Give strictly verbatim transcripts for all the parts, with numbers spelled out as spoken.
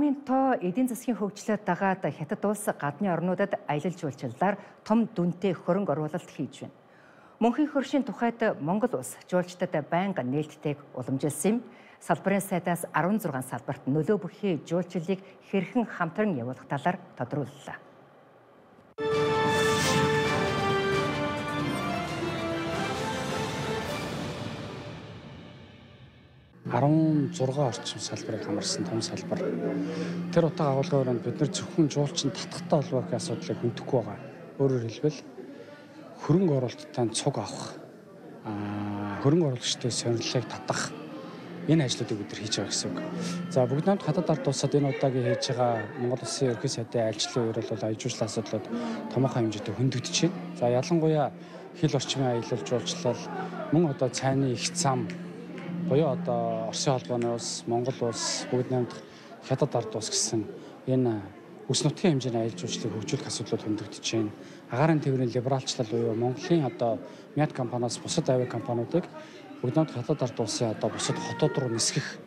Намын тоо эдийн засгийн хөгжлөд дагаад хятад улс гадны орнуудад аялал жуулчлалаар том дүнтэй хөрөнгө оруулалт хийж байна. Мөнхийн хөршийн тухайд Монгол улс жуулчдад байнга нээлттэйг уламжилсан юм. Салбарын сайдаас арван зургаан салбарт нөлөө бүхий жуулчлалыг хэрхэн хамтран явуулах талаар тодрууллаа. арван зургаан орчим салбарыг хамарсан том салбар. Тэр утга агуулгын бид нар зөвхөн жуулчин татахтай холбоотой асуудлыг хөндөхгүй байгаа. Өөрөөр хэлбэл хөрөнгө оруулалттай цуг авах, хөрөнгө оруулагчдын сонирхлыг татах энэ ажлуудыг бид нар хийж байгаа гэсэн үг. За бүгд намд хатад ард улсад энэ удаагийн хийж байгаа Монгол Улсын ерхий сайдын айлчлалын үеэр бол аяж жуулчлалын асуудлууд томоохон хэмжээтэй хөндөгдөж байна. За ялангуяа хил орчмын аялал жуулчлал, мөн одоо цайны их зам буюу одоо Оросын холбооны улс, Монгол улс, бүгд намд хятад ард улс гэсэн энэ үс нутгийн хэмжээний аялал жуулчлалыг хөгжүүлэх асуудлууд хөндөгдөж байна. Агаарын тээврийн либералчлал буюу Монголын одоо Мят компаниас бусад авиа компаниудыг бүгд намд хятад ард улсын одоо бусад хотууд руу нисгэх,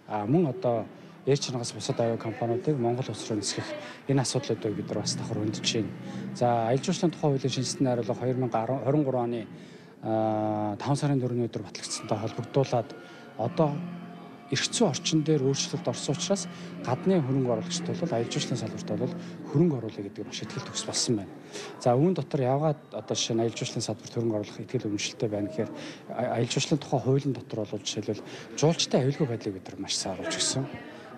мөн одоо Air China-гаас бусад авиа компаниудыг Монгол улс руу нисгэх энэ асуудлуудыг бид нар бас давхар хөндөж байна. За аялал жуулчлалын тухай хуулийн шинжилгээний хариулга две тысячи двадцать три оны таван сарын дөрөвний өдөр батлагдсантай холбогдуулаад одоо эрх зүйн орчин дээр өөрчлөлт орсон учраас гадны хөрөнгө оруулагчид бол аялал жуулчлалын салбарт бол хөрөнгө оруулах гэдэг маш ихтгэл төгс болсон байна. За үүн дотор явгаад одоо жишээ нь аялал жуулчлалын салбарт хөрөнгө оруулах ихтгэл өмчлөлттэй байна гэхээр аялал жуулчлалын тухай хуулийн дотор бол жишээлбэл жуулчтай аюулгүй байдлыг бид нар маш сайн оруулж өгсөн.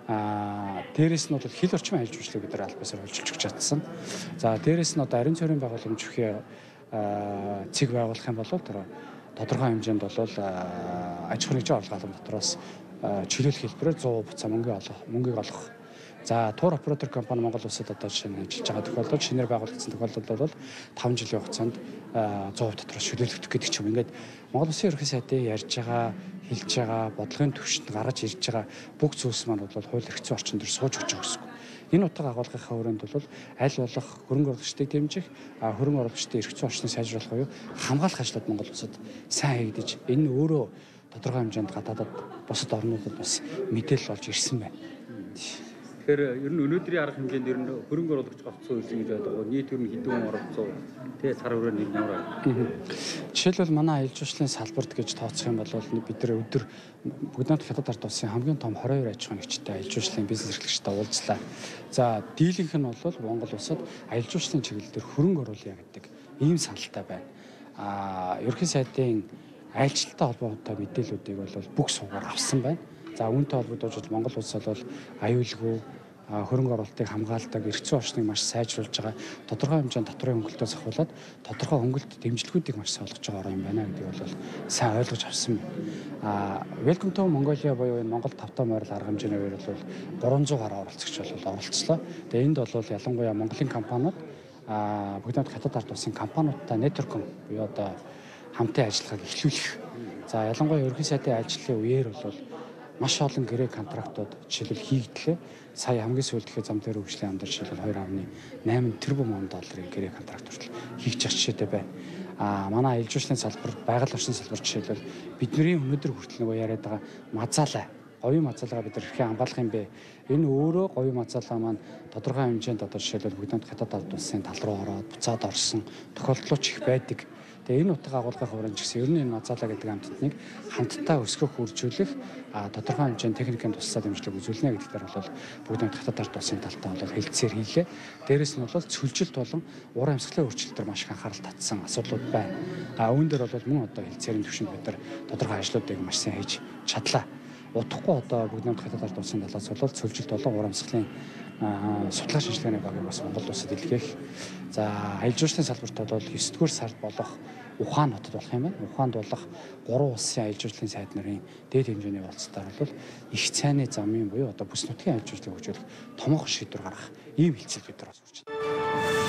Аа дээрэс нь бол хил орчмын аялал жуулчлалыг бид нар албасаар хөлжүүлж өгч чадсан. За дээрэс нь одоо ариун цорын байгууламж бүхий цэг байгуулах юм бол тэр тодорхой хэмжээнд бол аж ахуйн нэгжийн орлогын дотроос чөлөөлөх хэлбэрээр сто буцаа мөнгө олох, мөнгийг олох. За тур оператор компани Монгол улсад одоо жишээ нь ажиллаж байгаа тохиолдолд шинээр байгуулагдсан тохиолдолд бол таван жилийн хугацаанд сто дотроос чөлөөлөх гэдэг ч юм. Ингээд Монгол Улсын ерхий сайдын ярьж байгаа, хэлж байгаа, бодлогын төвшөнд гаргаж ирж байгаа бүх зүйлс маань бол хууль эрх зүйн орчин дээр сууж өгч байгаа гэсэн. Энэ утга агуулгынхаа хүрээнд бол аль болох хөрөнгө оруулагчдыг дэмжих, хөрөнгө оруулагчдын эрх зүйн орчныг сайжруулах буюу хамгаалах ажлууд Монгол улсад сайн хийгдэж, энэ өөрөө тодорхой хэмжээнд гадаадад бусад орнуудад бас мэдээлэл олж ирсэн байна. Тэгэхээр ер нь өнөөдрийн арга хэмжээнд ер нь хөрөнгө оруулагч голцсон үйлсэн гэж байдаг. Нийт ер нь хэдэн хүн оролцсон. Тэгээ цар хүрээнд нэг ямар байна? Жишээлбэл манай аялал жуулчлалын салбарт гэж тооцох юм бол бид нар өдөр бүгд намд хятад ард улсын хамгийн том двадцать two аж ахуйн нэгжтэй аялал жуулчлалын бизнес эрхлэгчтэй уулзлаа. За дийлэнх нь бол Монгол улсад аялал жуулчлалын чиглэл дээр хөрөнгө оруулъя гэдэг ийм саналтай байна. Аа ерхий сайдын айлчлалтай холбоотой мэдээллүүдийг бол бүх суугаар авсан байна. За үүнтэй холбогдуулж Монгол улс бол аюулгүй хөрөнгө оруулалтыг хамгаалдаг эрх зүйн орчныг маш сайжруулж байгаа. Тодорхой хэмжээнд татврын хөнгөлтөөс ахуулаад тодорхой хөнгөлт дэмжлэгүүдийг маш сайн олгож байгаа юм байна гэдгийг бол сайн ойлгож авсан байна. А Welcome to Mongolia буюу энэ Монгол тавтай морил арга хэмжээний үеэр бол гурван зуун гаруй оролцогч бол оролцлоо. Тэгээ энд бол ялангуяа Монголын компаниуд а бүгд хамт хятад ард улсын компаниудтай нэтворкинг буюу одоо хамтын ажиллагааг эхлүүлэх. За ялангуяа ерхий сайдын ажлын үеэр бол маш олон гэрээ контрактууд жишээлбэл хийгдлээ. Сая хамгийн сүүлд ихэ зам дээр хөгжлийн амдар жишээлбэл two point eight тэрбум долларын гэрээ контракт хүртэл хийгч ах жишээтэй байна. А манай аялал жуулчлалын салбар, байгаль орчин салбар жишээлбэл бидний өнөөдөр хүртэл нөгөө яриад байгаа мазаалаа, говийн мазаалгаа бид хэрхэн хамгаалах юм бэ? Энэ өөрөө говийн мазаалаа маань тодорхой хэмжээнд одоо жишээлбэл бүгд хамт хятад ард улсын тал руу ороод буцаад орсон тохиолдлууд ч их байдаг. Тэгээ энэ утга агуулгын хуваарь ч гэсэн ер нь энэ мазаалаа гэдэг амьтдыг хамтдаа өсгөх, үржүүлэх, тодорхой хэмжээний техникийн туслалцаа дэмжлэг үзүүлнэ гэдгээр бол бүгд хамт хятад ард улсын талтай бол хэлэлцээр хийлээ. Дээрээс нь бол цөлжилт болон уур амьсгалын өөрчлөлтөөр маш их анхаарал татсан асуудлууд байна. А үүн дээр бол мөн одоо хэлэлцээрийн төвшөнд бид нар тодорхой ажлуудыг маш сайн хийж чадлаа. Удахгүй одоо бүгд хамт хятад ард улсын талаас бол цөлжилт болон уур амьсгалын судалгаа шинжилгээний багийг бас Монгол улсад илгээх. За аялал жуулчлалын салбарт бол нine дугаар сард болох Ухаан хотод болох юм байна. Ухаанд болох гурван улсын аялал жуулчлалын сайд нарын дээд хэмжээний уулзалтаар бол их цайны замын буюу одоо бүс нутгийн аялал жуулчлалыг хөгжүүлэх томоохон шийдвэр гаргах ийм хилцэл бид нар бас хүрч байна.